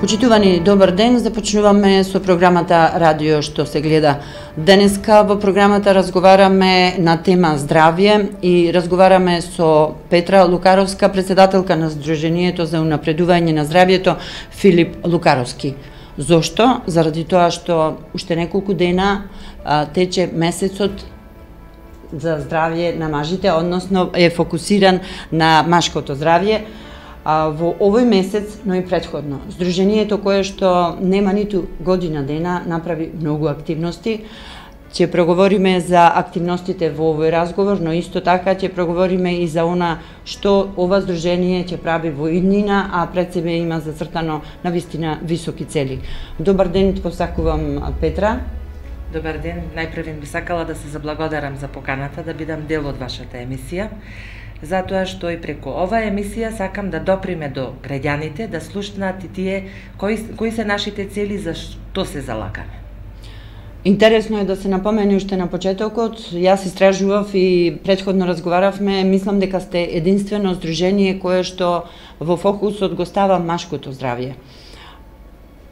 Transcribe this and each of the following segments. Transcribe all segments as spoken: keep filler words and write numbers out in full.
Почитувани, добар ден, започнуваме со програмата Радио што се гледа. Денеска во програмата разговараме на тема здравје и разговараме со Петра Лукаровска, председателка на Сдруженијето за унапредување на здравјето Филип Лукаровски. Зошто? Заради тоа што уште неколку дена а, тече месецот за здравје на мажите, односно е фокусиран на машкото здравје. А, во овој месец, но и претходно, Сдруженијето кое што нема ниту година дена направи многу активности. Ќе проговориме за активностите во овој разговор, но исто така ќе проговориме и за она што ова Сдружение ќе прави во иднина, а пред себе има зацртано навистина високи цели. Добар ден, посакувам Петра. Добар ден, најпрв би сакала да се заблагодарам за поканата да бидам дел од вашата емисија, затоа што и преку оваа емисија сакам да доприме до граѓаните, да слушнат и тие кои, кои се нашите цели, за што се залагаме. Интересно е да се напомени уште на почетокот, јас истражував и претходно разговаравме, мислам дека сте единствено Сдружение кое што во фокусот го става машкото здравје.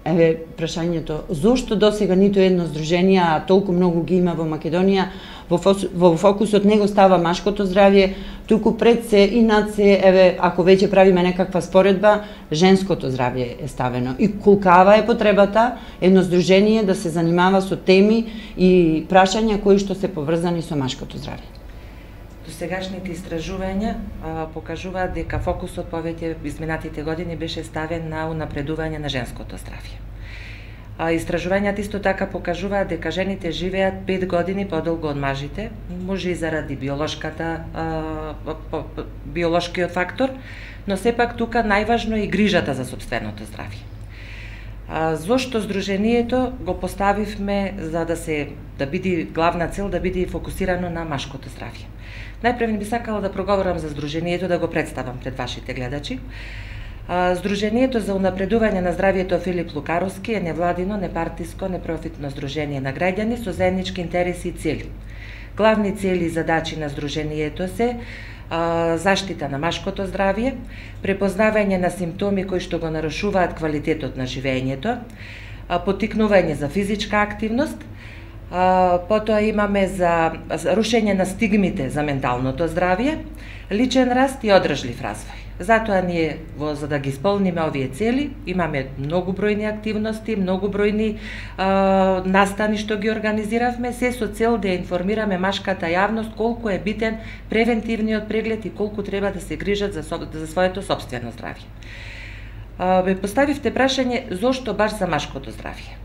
Еве прашањето, зошто досега ниту едно Сдружение, а толку многу ги има во Македонија, во, во фокусот не го става машкото здравје, туку пред се и над се, еве, ако веќе правиме некаква споредба, женското здравје е ставено. И колкава е потребата едно Сдружение да се занимава со теми и прашања кои што се поврзани со машкото здравје? Досегашните истражувања а, покажуваат дека фокусот повеќе изминатите години беше ставен на унапредување на женското здравје. А, истражувањата исто така покажуваат дека жените живеат пет години подолго од мажите, може и заради биолошката а, по, по, биолошкиот фактор, но сепак тука најважно е и грижата за сопственото здравје. А, зошто Сдруженијето го поставивме за да се да биде главна цел да биде фокусирано на машкото здравје. Најпрв би сакала да проговорам за Сдруженијето, да го представам пред вашите гледачи. Сдруженијето за унапредување на здравјето Филип Лукаровски е невладино, непартиско, непрофитно здружение на граѓани со заеднички интереси и цели. Главни цели и задачи на Сдруженијето се а, заштита на машкото здравје, препознавање на симптоми кои што го нарушуваат квалитетот на живеењето, а, поттикнување за физичка активност, а, потоа имаме за рушење на стигмите за менталното здравје, личен раст и одржлив развој. Затоа ние, во, за да ги исполниме овие цели, имаме многу бројни активности, многу бројни а, настани што ги организиравме, се со цел да информираме машката јавност колку е битен превентивниот преглед и колку треба да се грижат за, за своето собствено здравје. А, бе поставивте прашање зошто баш за машкото здравје.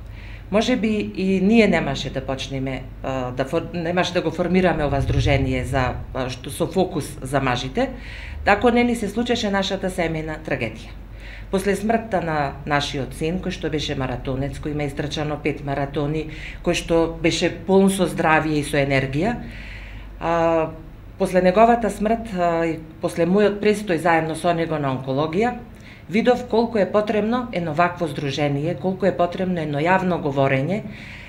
Може би и ние немаше да почнеме, да, немаше да го формираме ова Сдружение за, што со фокус за мажите, ако не ни се случеше нашата семејна трагедија. После смртта на нашиот син, кој што беше маратонец, кој има истрчано пет маратони, кој што беше полн со здравје и со енергија, а, после неговата смрт и после мојот престој заедно со него на онкологија, видов колку е потребно едно вакво здружение, колку е потребно едно јавно говорење,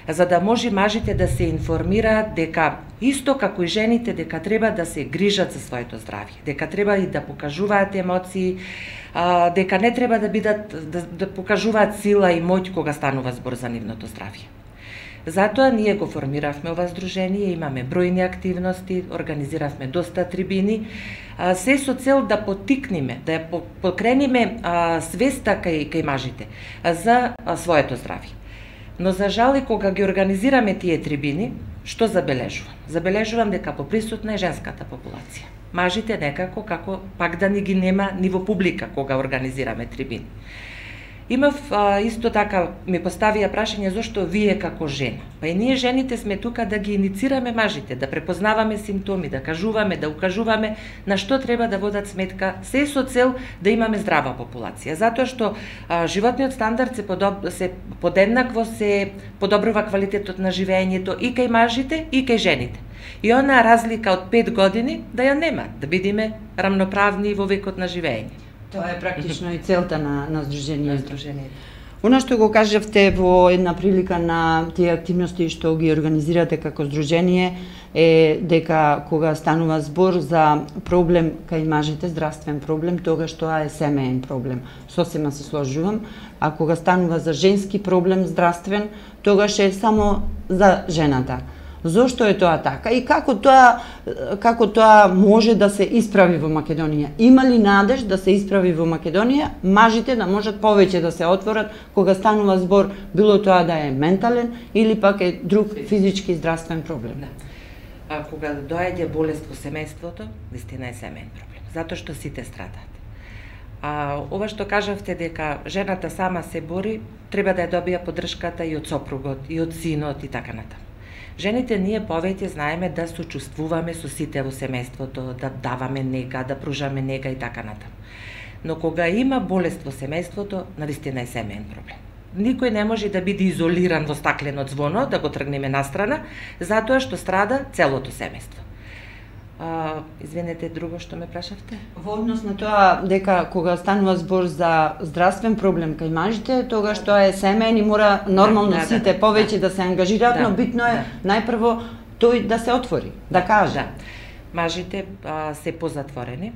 за да може мажите да се информираат дека исто како и жените дека треба да се грижат за своето здравје, дека треба и да покажуваат емоции, а, дека не треба да бидат да, да покажуваат сила и моќ кога станува збор за нивното здравје. Затоа ние го формиравме ова здружение, имаме бројни активности, организиравме доста трибини, а, се со цел да поттикнеме, да ја покрениме а, свеста кај, кај мажите а, за а, своето здравје. Но за жал и кога ги организираме тие трибини, што забележувам? Забележувам дека поприсутна е женската популација. Мажите некако како пак да ни ги нема ни во публика кога организираме трибини. Имав а, исто така ми поставија прашање зошто вие како жена. Па и ние жените сме тука да ги иницираме мажите, да препознаваме симптоми, да кажуваме, да укажуваме на што треба да водат сметка, се со цел да имаме здрава популација. Затоа што а, животниот стандард се, подоб... се подеднакво се подобрува квалитетот на живеењето и кај мажите и кај жените. И онаа разлика од пет години да ја нема, да бидеме рамноправни во векот на живеење. Тоа е практично и целта на, на Сдруженијето. Она што го кажавте во една прилика на тие активности што ги организирате како здружение е дека кога станува збор за проблем кај мажите, здравствен проблем, тогаш тоа е семеен проблем. Сосема се сложувам, а кога станува за женски проблем здравствен, тогаш е само за жената. Зошто е тоа така и како тоа како тоа може да се исправи во Македонија? Има ли надеж да се исправи во Македонија, мажите да можат повеќе да се отворат кога станува збор било тоа да е ментален или пак е друг физички здравствен проблем? Да. А кога доаѓа болест во семејството, вистина е семеен проблем, затоа што сите страдаат. А ова што кажавте дека жената сама се бори, треба да ја добија поддршката и од сопругот, и од синот и така натаму. Жените ние повеќе знаеме да сочувствуваме со сите во семејството, да даваме нега, да пружаме нега и така натаму. Но кога има болест во семејството, навистина е семеен проблем. Никој не може да биде изолиран во стаклено ѕвоно, да го тргнеме настрана, затоа што страда целото семејство. А, извинете, друго што ме прашавте? Во однос на тоа дека кога станува збор за здравствен проблем кај мажите, тогаш тоа е семеен и мора нормално да, да, сите да, повеќе да. да се ангажираат, да, но битно е да. најпрво тој да се отвори, да каже. Да. Мажите а, се позатворени,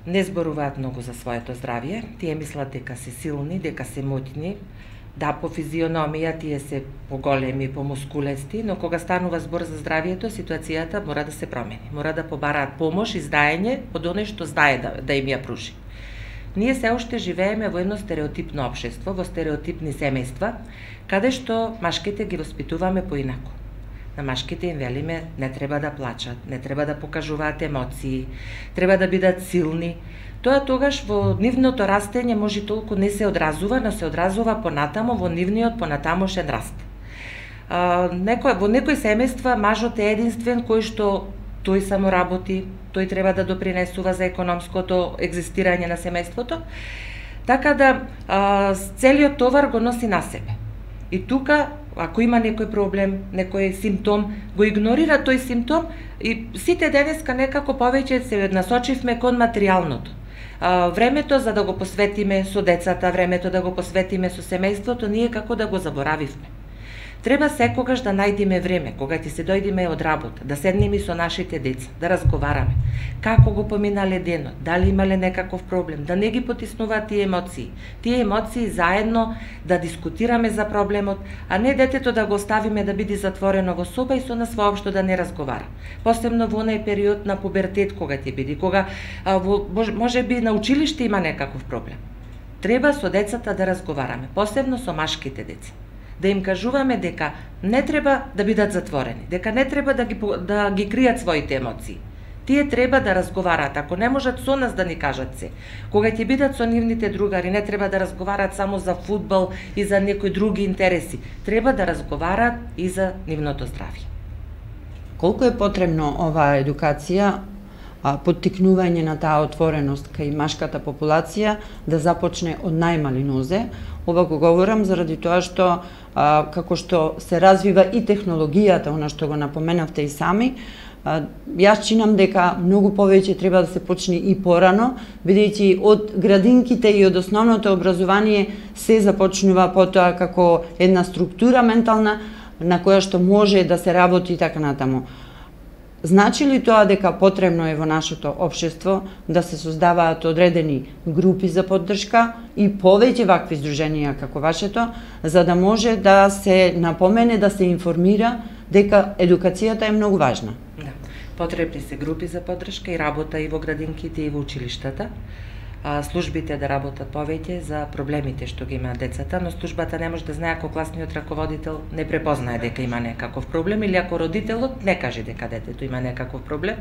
не зборуваат многу за своето здравје, тие мислат дека се силни, дека се моќни, да, по физиономија тие се поголеми, помускулести, но кога станува збор за здравието, ситуацијата мора да се промени. Мора да побараат помош и здаење од оној што знае да, да им ја пружи. Ние се уште живееме во едно стереотипно општество, во стереотипни семејства, каде што машките ги воспитуваме поинаку. На машките им велиме не треба да плачат, не треба да покажуваат емоции, треба да бидат силни. Тоа тогаш во нивното растење може толку не се одразува, но се одразува понатамо во нивниот понатамошен раст. А, некој, во некои семејства мажот е единствен кој што тој само работи, тој треба да допринесува за економското екзистирање на семејството, така да а, целиот товар го носи на себе. И тука, ако има некој проблем, некој симптом, го игнорира тој симптом и сите денеска некако повеќе се насочивме кон материјалното. А, времето за да го посветиме со децата, времето да го посветиме со семејството, ние како да го заборавивме. Треба секогаш да најдеме време, кога ти се дојдеме од работа, да седнеме со нашите деца, да разговараме. Како го поминале денот, дали имале некаков проблем, да не ги потиснуваат тие емоции. Тие емоции заедно да дискутираме за проблемот, а не детето да го оставиме да биде затворено во соба и со нас воопшто да не разговара. Посебно во онај период на пубертет кога ќе биде, кога а, во, може би на училиште има некаков проблем. Треба со децата да разговараме, посебно со машките деца. Да им кажуваме дека не треба да бидат затворени, дека не треба да ги, да ги кријат своите емоции. Тие треба да разговараат, ако не можат со нас да ни кажат се. Кога ќе бидат со нивните другари, не треба да разговараат само за фудбал и за некои други интереси. Треба да разговараат и за нивното здравје. Колку е потребно оваа едукација, поттикнување на таа отвореност кај машката популација да започне од најмали нозе? Ова го говорам заради тоа што а, како што се развива и технологијата, она што го напоменавте и сами, а, јас чинам дека многу повеќе треба да се почне и порано, бидејќи од градинките и од основното образование се започнува потоа како една структура ментална на која што може да се работи и така натаму. Значи ли тоа дека потребно е во нашето општество да се создаваат одредени групи за поддршка и повеќе вакви здруженија како вашето, за да може да се напомене, да се информира дека едукацијата е многу важна? Да. Потребни се групи за поддршка и работа и во градинките и во училиштата. Службите да работат повеќе за проблемите што ги имаат децата, но службата не може да знае ако класниот раководител не препознае дека има некаков проблем или ако родителот не каже дека детето има некаков проблем,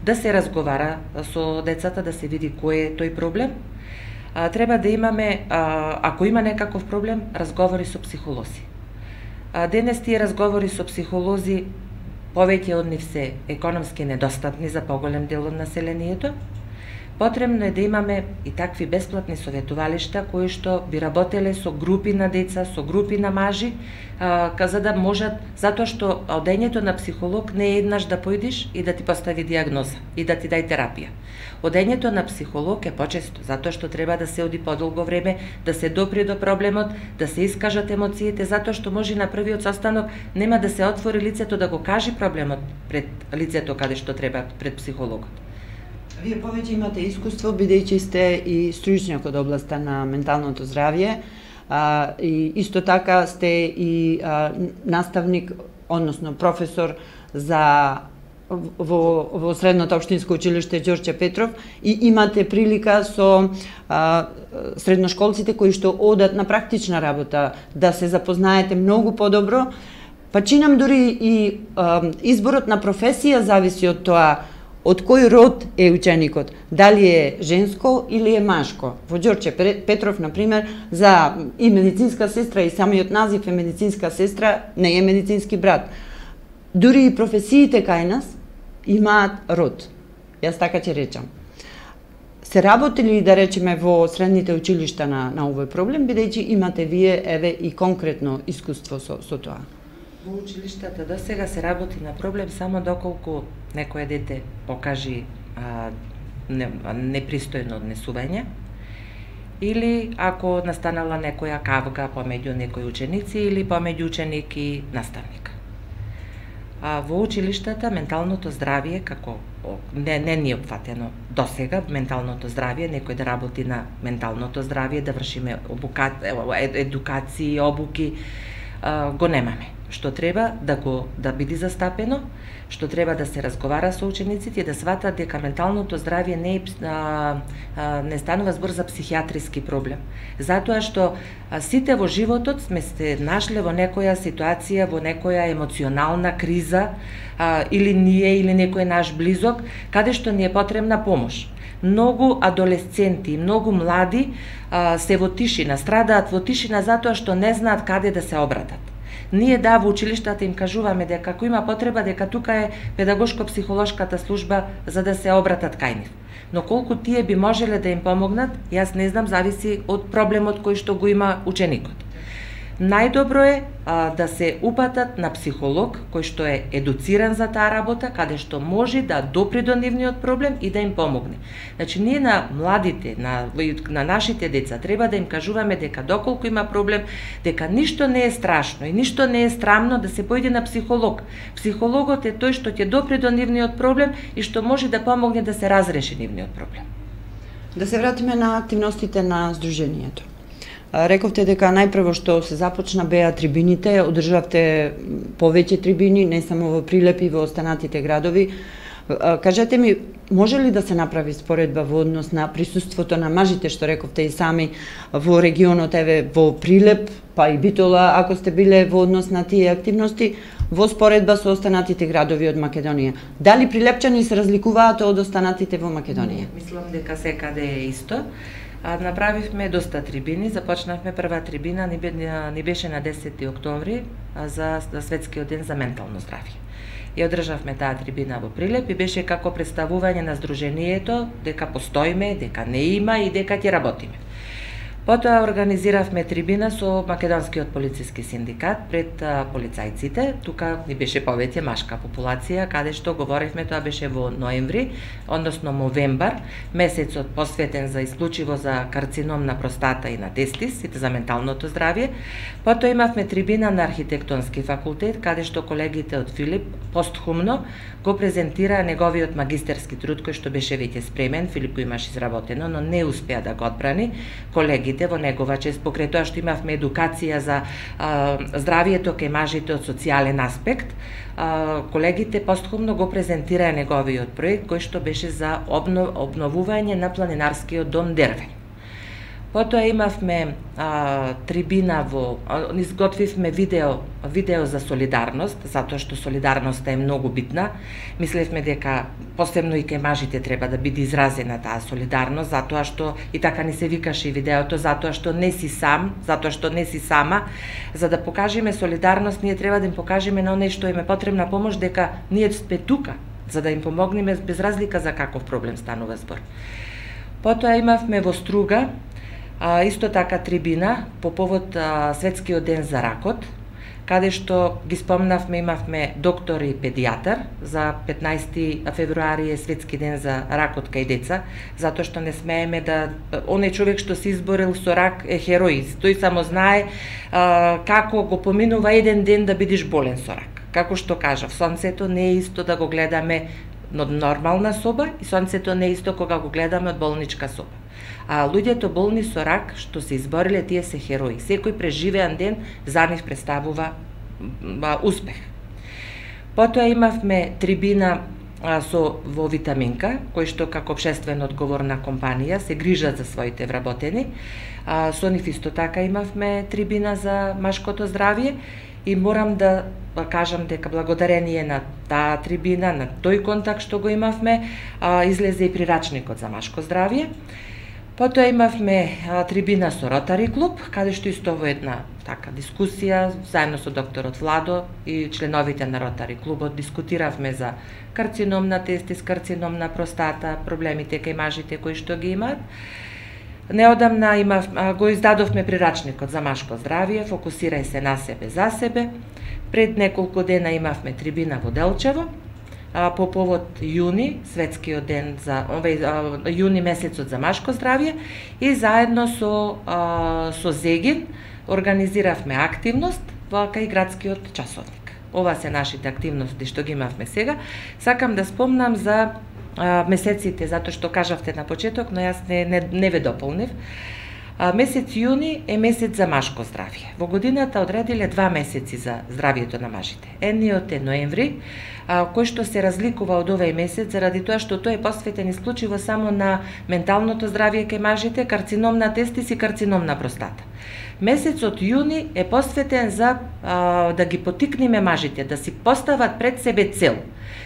да се разговара со децата, да се види кој е тој проблем. А, треба да имаме, а, ако има некаков проблем, разговори со психолози. А, денес тие разговори со психолози, повеќе од нив се економски недостапни за поголем дел од населението. Потребно е да имаме и такви бесплатни советувалишта кои што би работеле со групи на деца, со групи на мажи, а, за да можат, затоа што одењето на психолог не е еднаш да појдеш и да ти постави диагноза и да ти дај терапија. Одењето на психолог е почесто, затоа што треба да се оди подолго време, да се допре до проблемот, да се искажат емоциите, затоа што може на првиот состанок нема да се отвори лицето да го кажи проблемот пред лицето каде што треба пред психологот. Вие повеќе имате искуство, бидејќи сте и стручњак од областа на менталното здравје, а, и исто така сте и а, наставник, односно професор за во, во Средното општинско училиште Ѓорче Петров и имате прилика со а, средношколците кои што одат на практична работа да се запознаете многу подобро, па чинам дури и а, изборот на професија зависи од тоа од кој род е ученикот, дали е женско или е машко. Во Ѓорче Петров, например, за и медицинска сестра и самиот назив е медицинска сестра, не е медицински брат. Дури и професиите кај нас имаат род. Јас така ќе речам. Се работили, да речеме, во средните училишта на, на овој проблем, бидејќи имате вие, еве, и конкретно искуство со, со тоа? Во училиштата до сега се работи на проблем само доколку некое дете покажи а, не, непристојно однесување, или ако настанала некоја кавга помеѓу некои ученици или помеѓу ученик и наставник. А во училиштата менталното здравје, како не, не ни е опфатено до сега, менталното здравје, некој да работи на менталното здравје, да вршиме обука, едукации, обуки, а, го немаме. Што треба да го да биде застапено, што треба да се разговара со учениците и да сватат дека менталното здравје не е, а, а, не станува збор за психијатриски проблем. Затоа што а, сите во животот сме се нашле во некоја ситуација, во некоја емоционална криза, а, или ние или некој наш близок, каде што ни е потребна помош. Многу адолесценти, многу млади а, се во тишина, страдаат во тишина затоа што не знаат каде да се обратат. Ние да во училиштата им кажуваме дека ако има потреба дека тука е педагошко-психолошката служба за да се обратат кај нив. Но колку тие би можеле да им помогнат, јас не знам, зависи од проблемот кој што го има ученикот. Најдобро е а, да се упатат на психолог кој што е едуциран за таа работа, каде што може да допре до нивниот проблем и да им помогне. Значи, ние на младите, на, на нашите деца, треба да им кажуваме дека доколку има проблем, дека ништо не е страшно и ништо не е срамно да се појде на психолог. Психологот е тој што ќе допре до нивниот проблем и што може да помогне да се разреши нивниот проблем. Да се вратиме на активностите на Сдруженијето. Рековте дека најпрво што се започна беа трибините, одржавте повеќе трибини, не само во Прилеп и во останатите градови. Кажете ми, може ли да се направи споредба во однос на присуството на мажите, што рековте и сами, во регионот, еве, во Прилеп, па и Битола, ако сте биле во однос на тие активности, во споредба со останатите градови од Македонија? Дали прилепчани се разликуваат од останатите во Македонија? Мислам дека секаде е исто. А, направивме доста трибини, започнавме прва трибина, ни, ни беше на десети октомври за, за Светскиот ден за ментално здравје. И одржавме таа трибина во Прилеп и беше како представување на Сдруженијето, дека постоиме, дека не има и дека ќе работиме. Потоа организиравме трибина со Македонскиот полициски синдикат пред а, полицајците. Тука ни беше повеќе машка популација, каде што говоревме, тоа беше во ноември, односно новембар, месецот посветен за исклучиво за карцином на простата и на тестис, и за менталното здравје. Потоа имавме трибина на архитектонски факултет, каде што колегите од Филип постхумно го презентира неговиот магистерски труд кој што беше веќе спремен, Филип го имаше изработено, но не успеа да го одбрани. Колеги во негова чест, покрај тоа што имавме едукација за а, здравието кај мажите од социјален аспект, а, колегите постхумно го презентираа неговиот проект кој што беше за обнов, обновување на планинарскиот дом Дервен. Потоа имавме а, трибина во, а, изготвивме видео, видео за солидарност, затоа што солидарноста е многу битна. Мислевме дека посебно и кај мажите треба да биде изразена таа солидарност, затоа што и така ни се викаше и видеото, затоа што не си сам, затоа што не си сама. За да покажеме солидарност, ние треба да им покажеме на оние што им е потребна помош, дека ние сме тука, за да им помогнеме без разлика за каков проблем станува збор. Потоа имавме во Струга а, исто така трибина по повод а, Светскиот ден за ракот, каде што ги спомнавме, имавме доктор и педијатар. За петнаести февруари е Светски ден за ракот кај деца, затоа што не смееме да... Оној човек што се изборил со рак е херој, тој само знае а, како го поминува еден ден да бидеш болен со рак. Како што кажав, сонцето не е исто да го гледаме од нормална соба и сонцето не е исто кога го гледаме од болничка соба. А луѓето болни со рак што се избориле, тие се херои. Секој преживеан ден за нив представува а, успех. Потоа имавме трибина а, со во Витаминка, кој што како општествено одговорна компанија се грижат за своите вработени. А, со нив исто така имавме трибина за машкото здравје и морам да кажам дека благодарение на таа трибина, на тој контакт што го имавме, а, излезе и прирачникот за машко здравје. Потоа имавме а, трибина со Ротари клуб, каде што исто во една така дискусија, заедно со докторот Владо и членовите на Ротари клубот дискутиравме за карцином на тестис, карцином на простата, проблемите кај мажите кои што ги имаат. Неодамна имав, а, го издадовме прирачникот за машко здравје, фокусирај се на себе за себе. Пред неколку дена имавме трибина во Делчево, по повод јуни, Светскиот ден за овој јуни месецот за машко здравје, и заедно со со Зегин организиравме активност во кај градскиот часовник. Ова се нашите активности што ги имавме сега. Сакам да спомнам за а, месеците, затоа што кажавте на почеток, но јас не не, не ве дополнив. А, месец јуни е месец за машко здравје. Во годината одредиле два месеци за здравјето на мажите. Едниот е ноември, а, кој што се разликува од овој месец заради тоа што тој е посветен исклучиво само на менталното здравје кај мажите, карцином на тестис и карцином на простата. Месецот јуни е посветен за а, да ги потикнеме мажите да си постават пред себе цел.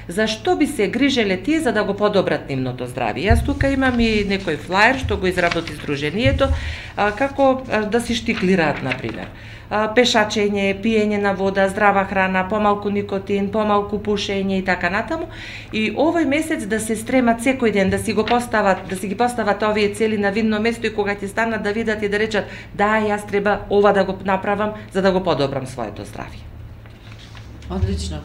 Зашто би се грижеле тие за да го подобрат нивното здравје? Јас тука имам и некој флаер што го изработи Сдруженијето, а, како а, да си штиклираат, например. А, пешачење, пиење на вода, здрава храна, помалку никотин, помалку пушење и така натаму. И овој месец да се стремат секој ден, да си го постават, да си ги постават овие цели на видно место и кога ќе станат да видат и да речат да, јас треба ова да го направам за да го подобрам своето здравје. Одлично.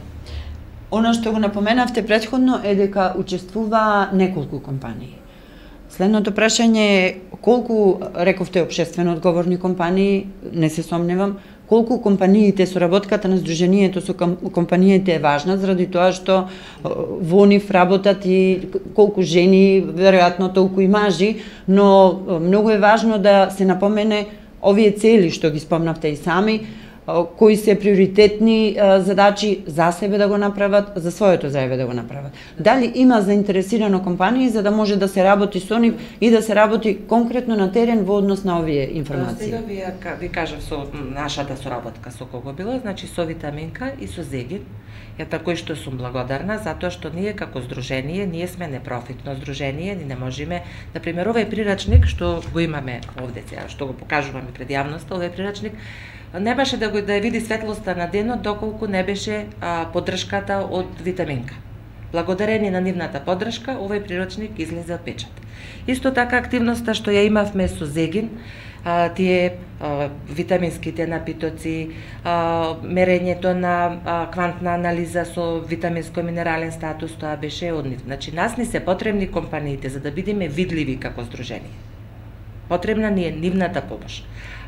Она што го напоменавте претходно е дека учествува неколку компании. Следното прашање е колку, рековте, општествено одговорни компании, не се сомневам, колку компаниите, соработката на Сдруженијето со компаниите е важна, заради тоа што во нив работат и колку жени, веројатно толку и мажи, но многу е важно да се напомене овие цели што ги спомнавте и сами, кои се приоритетни задачи за себе да го направат, за своето здравје да го направат. Дали има заинтересирано компании за да може да се работи со нив и да се работи конкретно на терен во однос на овие информации? Сега ви, ви кажав со нашата соработка со кого била, значи со Витаминка и со Зегин. Ја такој што сум благодарна, затоа што ние како здружение, ние сме непрофитно здружение, ни не можеме, например, овој прирачник што го имаме овде сега, што го покажуваме пред јавноста, овој прирачник не беше да го да ја види светлоста на денот доколку не беше а, поддршката од Витаминка. Благодарение на нивната поддршка, овој прирачник излезе од печат. Исто така активноста што ја имавме со Зегин, а, тие а, витаминските напитоци, а, мерењето на а, квантна анализа со витаминско-минерален статус, тоа беше од нив. Значи, нас ни се потребни компаниите за да бидеме видливи како здружение. Потребна ни е нивната помош.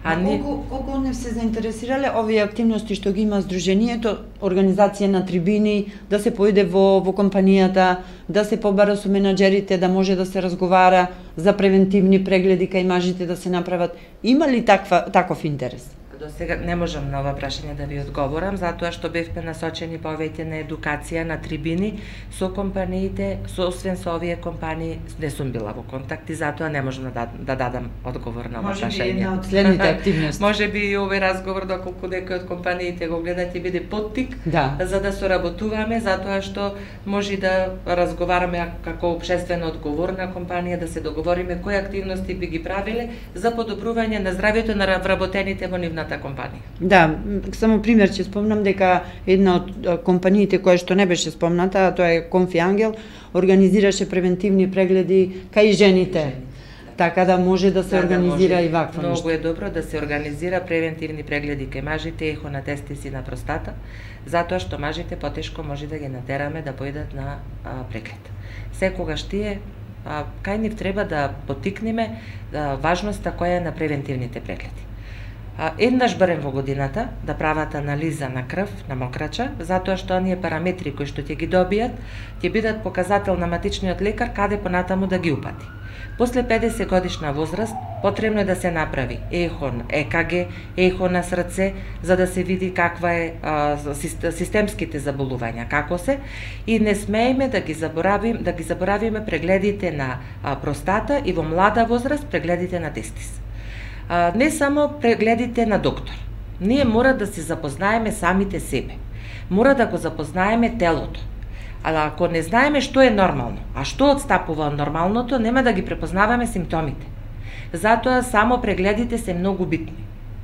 А не... колку, колку од нив се заинтересирале овие активности што ги има Сдруженијето, организација на трибини, да се поиде во, во компанијата, да се побара со менаџерите, да може да се разговара за превентивни прегледи кај мажите да се направат. Има ли таква, таков интерес? До сега не можам на ова прашање да ви одговорам, затоа што бевме насочени повеќе на едукација, на трибини со компаниите, со освен со овие компании не сум била во контакт и затоа не можам да, да дадам одговор на ова прашање. Може би една од следните активности. Може би и овој разговор, доколку некој од компаниите го гледа, ќе биде поттик да. за да соработуваме, затоа што може да разговараме како општествено одговорна компанија, да се договориме кои активности би ги правиле за подобрување на здравјето на вработените во нивната компанија. Да, само пример ќе спомнам дека една од компаниите која што не беше спомната, тоа е Конфи Ангел, организираше превентивни прегледи кај жените. така да може да се да, организира да и вакво нешто. Многу е добро да се организира превентивни прегледи кај мажите, ехо на тестиси на простата, затоа што мажите потешко може да ги натераме да појдат на а, преглед. Секогаш тие а, кај нив треба да потикнеме а, важноста која е на превентивните прегледи. А, еднаш барем во годината да прават анализа на крв, на мокрача, затоа што оние параметри кои што ќе ги добијат, ќе бидат показател на матичниот лекар каде понатаму да ги упати. После педесет годишна возраст потребно е да се направи ехо, Е К Г, ехо на срце, за да се види каква е а, системските заболувања, како се, и не смееме да ги заборавиме, да ги заборавиме прегледите на а, простата и во млада возраст прегледите на тестис. А, не само прегледите на доктор. Ние мора да се запознаеме самите себе. Мора да го запознаеме телото. А ако не знаеме што е нормално, а што отстапува од нормалното, нема да ги препознаваме симптомите. Затоа само прегледите се многу битни.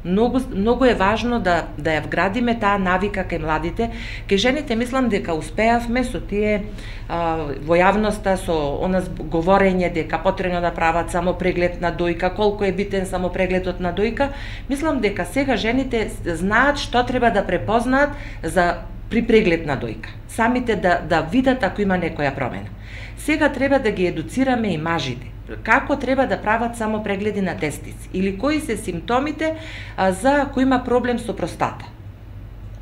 Многу, многу е важно да, да ја вградиме таа навика кај младите. Кај жените мислам дека успеавме со тие а, во јавноста, со она говорење дека потребно да прават само преглед на дојка, колку е битен само прегледот на дојка. Мислам дека сега жените знаат што треба да препознаат за при преглед на дојка. Самите да, да видат ако има некоја промена. Сега треба да ги едуцираме и мажите. Како треба да прават само прегледи на тестис или кои се симптомите а, за ако има проблем со простата.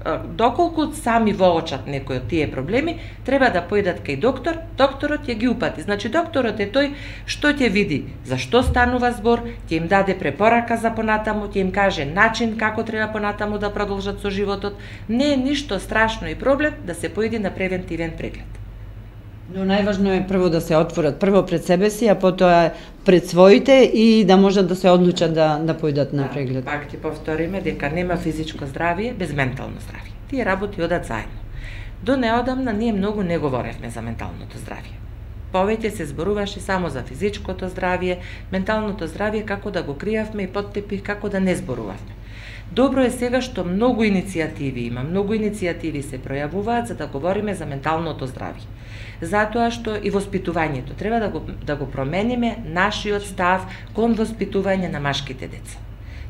А, доколку сами воочат некои од тие проблеми, треба да појдат кај доктор, докторот ќе ги упати. Значи докторот е тој што ќе види за што станува збор, ќе им даде препорака за понатаму, ќе им каже начин како треба понатаму да продолжат со животот. Не е ништо страшно и проблем да се поиде на превентивен преглед. Но најважно е прво да се отворат прво пред себе си, а потоа пред своите и да можат да се одлучат да да појдат на преглед. Да, пак ќе повториме дека нема физичко здравје без ментално здравје. Тие работи одат заедно. До неодамна ние многу не говоревме за менталното здравје. Повеќе се зборуваше само за физичкото здравје, менталното здравје како да го криевме и под тепих како да не зборувавме. Добро е сега што многу иницијативи има, многу иницијативи се пројавуваат за да говориме за менталното здравје. Затоа што и воспитувањето треба да го да го промениме нашиот став кон воспитување на машките деца.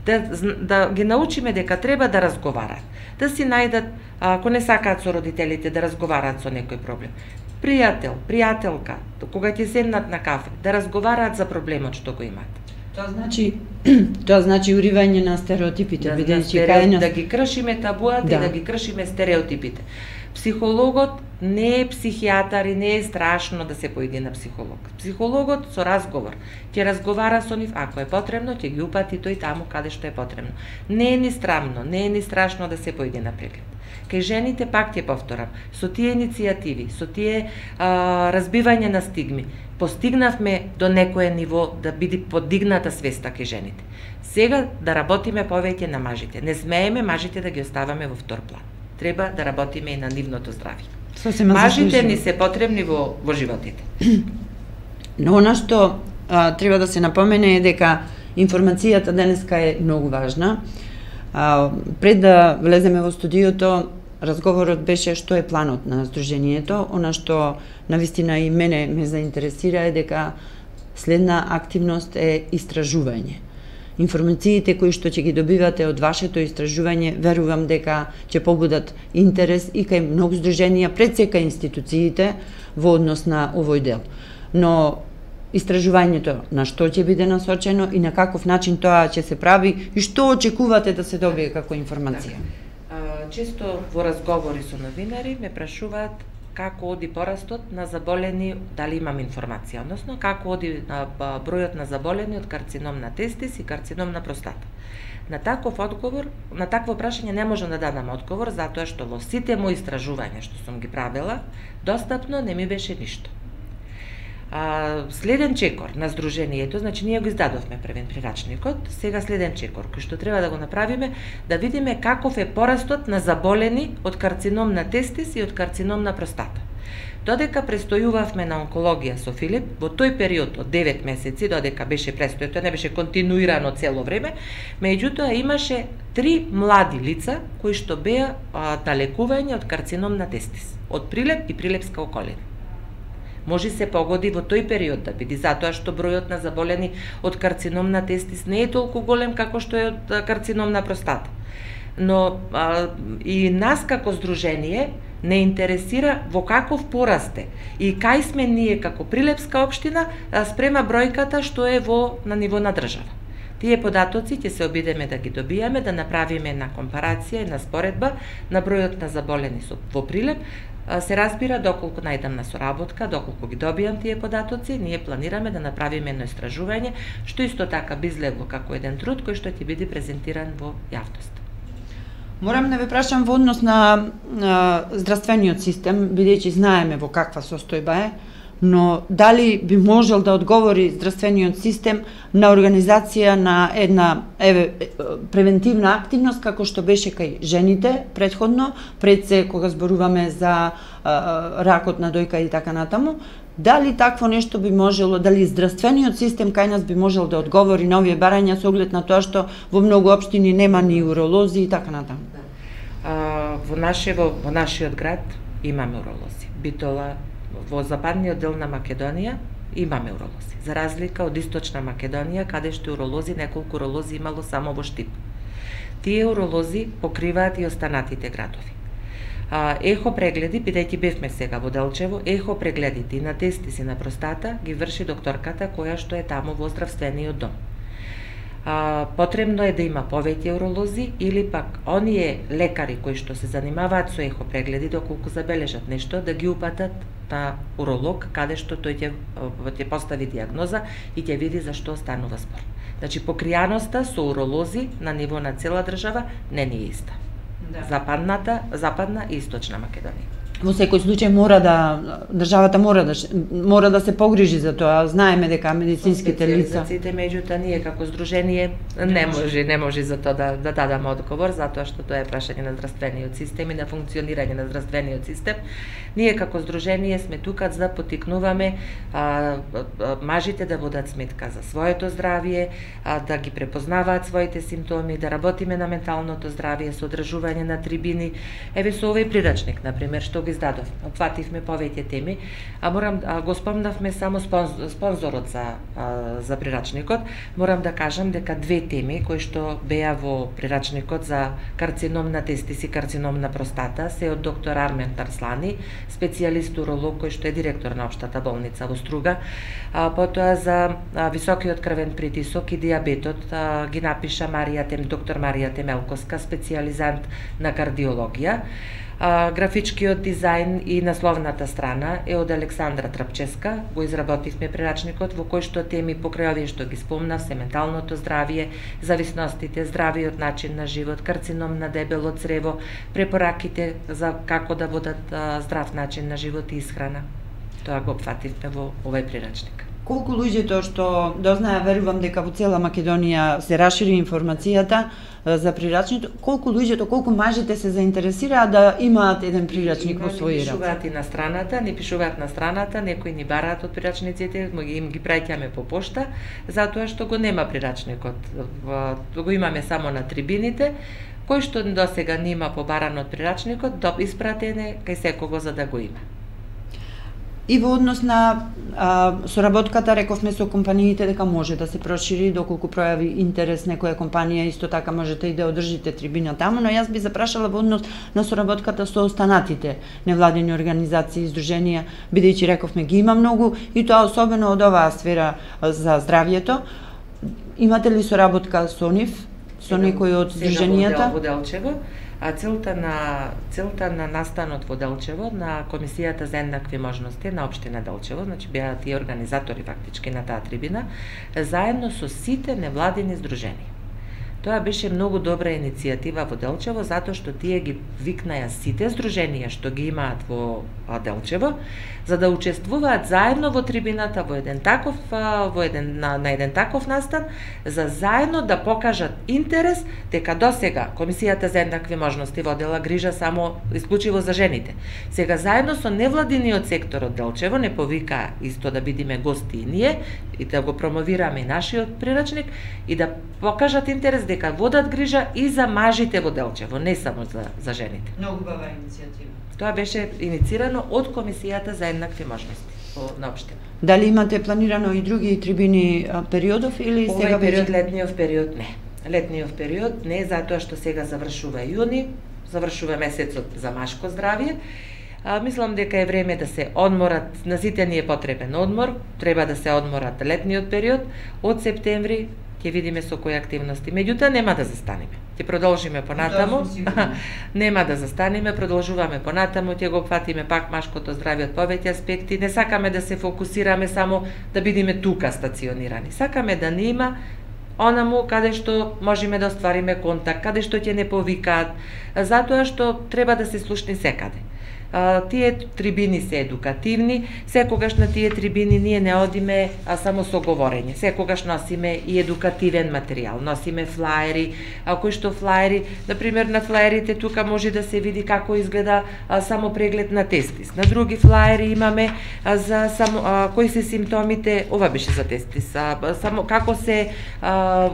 Да, да ги научиме дека треба да разговарат, да си најдат, ако не сакаат со родителите, да разговарат со некој проблем. Пријател, пријателка, кога ќе седнат на кафе, да разговараат за проблемот што го имаат. Тоа значи тоа значи уривање на стереотипите, да, бидејќи да, кај нас да ги кршиме табуата да. И да ги кршиме стереотипите. Психологот не е психијатар и не е страшно да се поиде на психолог. Психологот со разговор ќе разговара со нив, ако е потребно, ќе ги упати тој таму каде што е потребно. Не е ни срамно, не е ни страшно да се поиде на преглед. Кај жените пак ќе повторам, со тие иницијативи, со тие а, разбивање на стигми, постигнавме до некое ниво да биде подигната свеста кај жените. Сега да работиме повеќе на мажите. Не смееме мажите да ги оставаме во втор план. Треба да работиме и на нивното здравје. Сосема мажите заслужено. ни се потребни во, во животите. Но она што а, треба да се напомене е дека информацијата денеска е многу важна. А, пред да влеземе во студиото, разговорот беше што е планот на Сдруженијето. Она што навистина и мене ме заинтересира е дека следна активност е истражување. Информациите кои што ќе ги добивате од вашето истражување, верувам дека ќе побудат интерес и кај многу здруженија, пред сека институциите во однос на овој дел. Но истражувањето на што ќе биде насочено и на каков начин тоа ќе се прави и што очекувате да се добие како информација? Да. Често во разговори со новинари ме прашуваат како оди порастот на заболени, дали имам информација, односно како оди на бројот на заболени од карцином на тестис и карцином на простата. На таков одговор, на такво прашање не можам да дадам одговор, затоа што во сите мои истражувања што сум ги правела, достапно не ми беше ништо. А, следен чекор на Сдруженијето, значи ние го издадовме првен прирачникот, сега следен чекор, кој што треба да го направиме, да видиме каков е порастот на заболени од карцином на тестис и од карцином на простата. Додека престојувавме на онкологија со Филип, во тој период од девет месеци, додека беше престој, тоа не беше континуирано цело време, меѓутоа имаше три млади лица кои што беа а, на лекување од карцином на тестис, од Прилеп и Прилепска околина. може се погоди во тој период да биде, затоа што бројот на заболени од карцином на тестис не е толку голем како што е од карцином на простата. Но а, и нас како здружение не интересира во каков порасте и кај сме ние како Прилепска општина спрема бројката што е во на ниво на држава. Тие податоци ќе се обидеме да ги добиеме, да направиме една компарација и на споредба на бројот на заболени во Прилеп. Се разбира, доколку најдам на соработка, доколку ги добијам тие податоци, ние планираме да направиме едно истражување, што исто така би излегло како еден труд кој што ќе биде презентиран во јавност. Морам да ве прашам во однос на, на здравствениот систем, бидејќи знаеме во каква состојба е, но дали би можел да одговори здравствениот систем на организација на една еве, превентивна активност како што беше кај жените предходно, пред се кога зборуваме за а, ракот на дојка и така натаму, дали такво нешто би можело, дали здравствениот систем кај нас би можел да одговори на овие барања со оглед на тоа што во многу општини нема ни уролози и така натаму? А, во, наше, во, во нашиот град имаме уролози. Битола, во западниот дел на Македонија имаме уролози. За разлика од источна Македонија, каде што уролози, неколку уролози имало само во Штип. Тие уролози покриваат и останатите градови. А, ехо прегледи, бидејќи бевме сега во Делчево, ехо прегледите и на тестис и на простата ги врши докторката која што е таму во здравствениот дом. А, потребно е да има повеќе уролози или пак оние лекари кои што се занимаваат со ехо прегледи, доколку забележат нешто, да ги упатат на уролог, каде што тој ќе, ќе постави диагноза и ќе види за што станува спор. Значи, покријаноста со уролози на ниво на цела држава не ни е иста. Да. Западната, западна и источна Македонија. Во секој случај мора да државата мора да мора да се погрижи за тоа. Знаеме дека медицинските лица, специјализациите, меѓутоа ние како здружение не може, не може за тоа да да дадеме одговор, затоа што тоа е прашање на здравствениот систем и на функционирање на здравствениот систем. Ние како здружение сме тука за да поттикнуваме а, а, мажите да водат сметка за своето здравје, а, да ги препознаваат своите симптоми, да работиме на менталното здравје со одржување на трибини. Еве со овој прирачник, на пример, што издадов. Опфативме повеќе теми, а морам а, го спомнавме само спонзор, спонзорот за а, за прирачникот. Морам да кажам дека две теми кои што беа во прирачникот за карцином на тестис и карцином на простата се од доктор Армен Тарслани, специјалист уролог кој што е директор на општата болница во Струга. А, потоа за а, високиот крвен притисок и диабетот а, ги напиша Марија Тем, доктор Марија Темелковска, специјализант на кардиологија. А, графичкиот дизајн и насловната страна е од Александра Трапческа. Го изработивме прирачникот во кој што теми покрај овие што ги спомнав, се менталното здравје, зависностите, здравиот начин на живот, карцином на дебело црево, препораките за како да водат а, здрав начин на живот и исхрана. Тоа го опфативме во овој прирачник. Колку луѓето што дознаа, верувам дека во цела Македонија се расшири информацијата за прирачник, колку луѓето, колку мажите се заинтересираа да имаат еден прирачник во своји раце? Ни пишуваат и на страната, ни пишуваат на страната, некои ни бараат од прирачниците, им ги праќаме по пошта, затоа што го нема прирачникот. Го имаме само на трибините, кој што досега нема побаран од прирачникот, испратен е кај секого за да го има. И во однос на а, соработката, рековме со компаниите дека може да се прошири, доколку пројави интерес некоја компанија, исто така можете и да одржите трибина таму, но јас би запрашала во однос на соработката со останатите невладини организации и здруженија, бидејќи рековме ги има многу и тоа особено од оваа сфера за здравјето. Имате ли соработка со нив, со некои од здруженијата? Во Делчево. А целта на целта на настанот во Делчево на Комисијата за еднакви можности на општина Делчево, значи беа тие организатори фактички на таа трибина, заедно со сите невладини здруженија. Тоа беше многу добра иницијатива во Делчево, затоа што тие ги викнаја сите здруженија што ги имаат во Делчево, за да учествуваат заедно во трибината во еден таков во еден на, на еден таков настан, за заедно да покажат интерес дека досега Комисијата за еднакви можности водела грижа само исклучиво за жените. Сега заедно со невладиниот сектор од Делчево не повика исто да бидиме гости и ние и да го промовираме и нашиот прирачник и да покажат интерес дека водат грижа и за мажите во Делчево, не само за, за жените. Многу убава иницијатива. Тоа беше иницирано од Комисијата за еднакви можности на општина. Дали имате планирано и други трибини периодов или Овој сега период, веќе? летниот период не. Летниот период не, затоа што сега завршува јуни, завршува месецот за машко здравје. А, мислам дека е време да се одморат, на сите ни е потребен одмор, треба да се одморат летниот период. Од септември ќе видиме со кои активности. Меѓутоа нема да застанеме. Ќе продолжиме понатаму. Нема да застанеме, продолжуваме понатаму, ќе го фатиме пак машкото здравје од повеќе аспекти. Не сакаме да се фокусираме само да бидеме тука стационирани. Сакаме да не има онаму каде што можеме да оствариме контакт, каде што ќе не повикаат, затоа што треба да се слушни секаде. А, тие трибини се едукативни, секогаш на тие трибини ние не одиме а, само со говорење, секогаш носиме и едукативен материјал, носиме флаери, а, кои што флаери, например на флаерите тука може да се види како изгледа а, само преглед на тестис, на други флаери имаме а, за само а, кои се симптомите, ова беше за тестис, а, само како се а,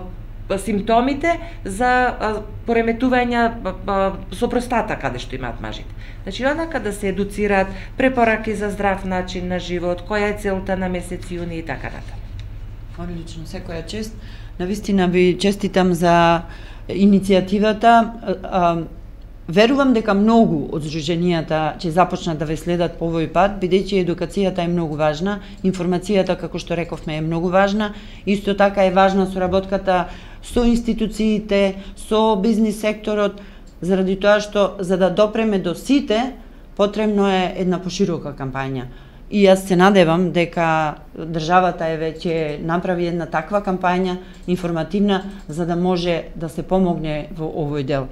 симптомите за а, пореметувања а, со простата каде што имаат мажите. Значи, онака да се едуцираат, препораки за здрав начин на живот, која е целта на месец јуни и така натаму. Одлично, секоја чест. Навистина ви честитам за иницијативата. А, верувам дека многу од здруженијата ќе започнат да ве следат по овој пат, бидејќи едукацијата е многу важна, информацијата, како што рековме, е многу важна, исто така е важна соработката со институциите, со бизнис секторот, заради тоа што за да допреме до сите, потребно е една поширока кампања. И јас се надевам дека државата е веќе направи една таква кампања, информативна, за да може да се помогне во овој дел.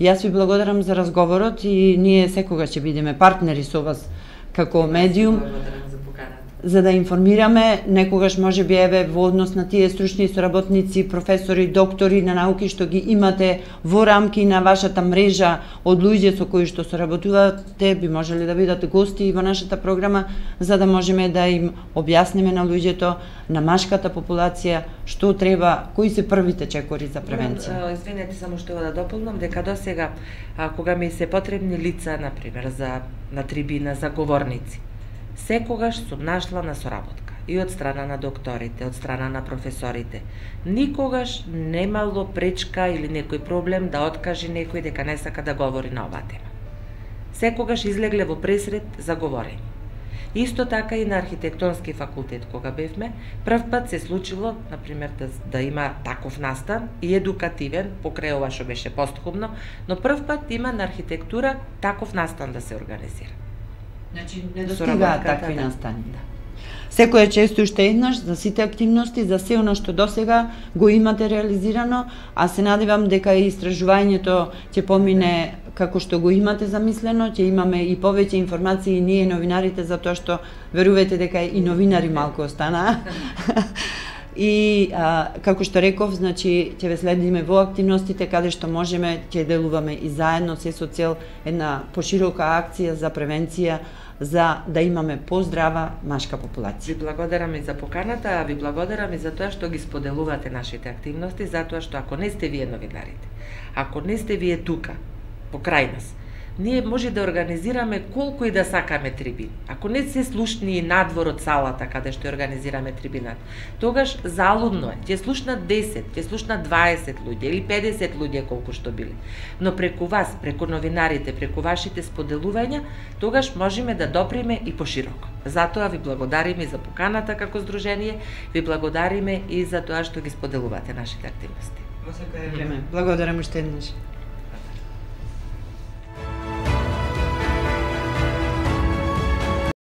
Јас ви благодарам за разговорот и ние секогаш ќе бидеме партнери со вас како медиум, за да информираме, некогаш може би еве во однос на тие стручни соработници, професори, доктори на науки што ги имате во рамки на вашата мрежа од луѓе со кои што соработувате, би можеле да бидат гости во нашата програма, за да можеме да им објасниме на луѓето, на машката популација, што треба, кои се првите чекори за превенција. Извинете, само што да дополнам, дека досега, кога ми се потребни лица, например, за на трибина, за говорници, секогаш сум нашла на соработка и од страна на докторите, од страна на професорите. Никогаш немало пречка или некој проблем да откаже некој дека не сака да говори на оваа тема. Секогаш излегле во пресред за говорење. Исто така и на архитектонски факултет кога бевме, прв пат се случило, например, да, да има таков настан и едукативен, покрај ова што беше постхумно, но прв пат има на архитектура таков настан да се организира. Значи, не достигаат такви настани. Да. Секоја често уште еднаш за сите активности, за се оно што досега го имате реализирано, а се надевам дека и истражувањето ќе помине како што го имате замислено, ќе имаме и повеќе информации ние новинарите, затоа што верувате дека и новинари малку останаа. И а, како што реков, значи ќе ве следиме во активностите каде што можеме, ќе делуваме и заедно се со цел една поширока акција за превенција, за да имаме поздрава машка популација. Ви благодарам и за поканата, а ви благодарам и за тоа што ги споделувате нашите активности, затоа што ако не сте вие новинарите, ако не сте вие тука, покрај нас, ние може да организираме колку и да сакаме трибини. Ако не се слушни и надвор од салата каде што организираме трибинат, тогаш залудно е. Ќе слушнат десет, ќе слушнат дваесет луѓе или педесет луѓе колку што биле. Но преку вас, преку новинарите, преку вашите споделувања, тогаш можеме да доприме и пошироко. Затоа ви благодариме и за поканата како здружение, ви благодариме и за тоа што ги споделувате нашите активности. Во секое време. Благодарам уште еднаш.